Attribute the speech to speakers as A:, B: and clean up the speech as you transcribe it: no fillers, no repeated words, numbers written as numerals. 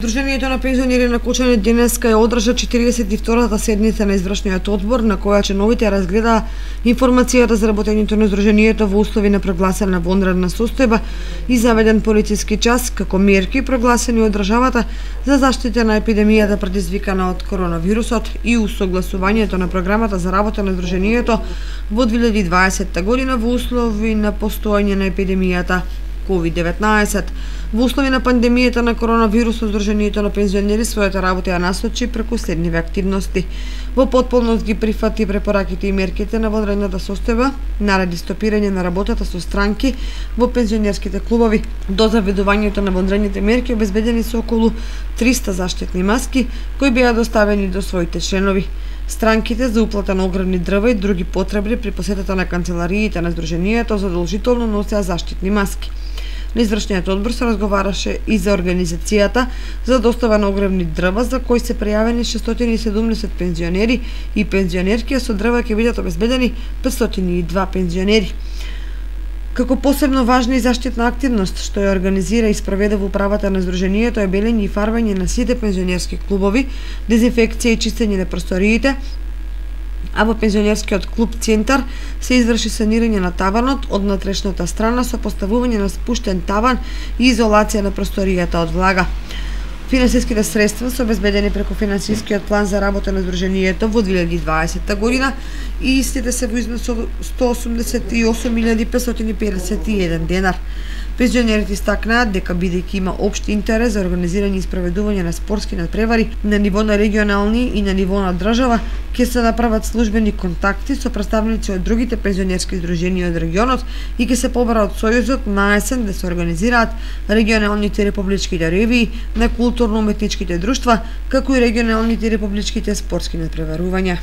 A: Сдруженијето на пензионери на Кочани денеска ја одржа 42-та седница на извршниот одбор, на која членовите разгледаа информацијата за работењето на Сдруженијето во услови на прогласена вонредна состојба и заведен полициски час како мерки прогласени од државата за заштита на епидемијата предизвикана од коронавирусот и усогласувањето на програмата за работа на Сдруженијето во 2020 година во услови на постоење на епидемијата COVID-19. Во услови на пандемијата на коронавирусот, Сдруженијето на пензионери својата работа ја насочи преку следниве активности. Во потполност ги прифати препораките и мерките на вонредната состојба, нареди стопирање на работата со странки во пензионерските клубови. До заведувањето на вонредните мерки обезбедени се околу 300 заштитни маски кои беа доставени до своите членови. Странките за уплата на огревни дрва и други потребни при посетата на канцелариите на Сдруженијето задолжително носеа заштитни маски. На извршниот одбор се разговараше и за организацијата за достава на огревни дрва, за кои се пријавени 670 пензионери и пензионерки, а со дрва ќе бидат обезбедени 502 пензионери. Како посебно важна и заштитна активност што ја организира и спроведе во управата на Сдруженијето е белење и фарбање на сите пензионерски клубови, дезинфекција и чистење на просториите, а во пензионерскиот клуб Центар се изврши санирање на таванот од натрешната страна со поставување на спуштен таван и изолација на просторијата од влага. Финансиските средства се обезбедени преку финансискиот план за работа на Сдруженијето во 2020 година и истите се во износ од 188.551 денар. Пензионерите истакнаа дека бидејќи има општ интерес за организирање и спроведување на спортски надпревари на ниво на регионални и на ниво на држава, ќе се направат службени контакти со представници од другите пензионерски здруженија од регионот и ќе се побара од Сојузот на есен да се организираат регионалните републичките ревии на културно-уметничките друштва, како и регионалните републичките спортски надпреварувања.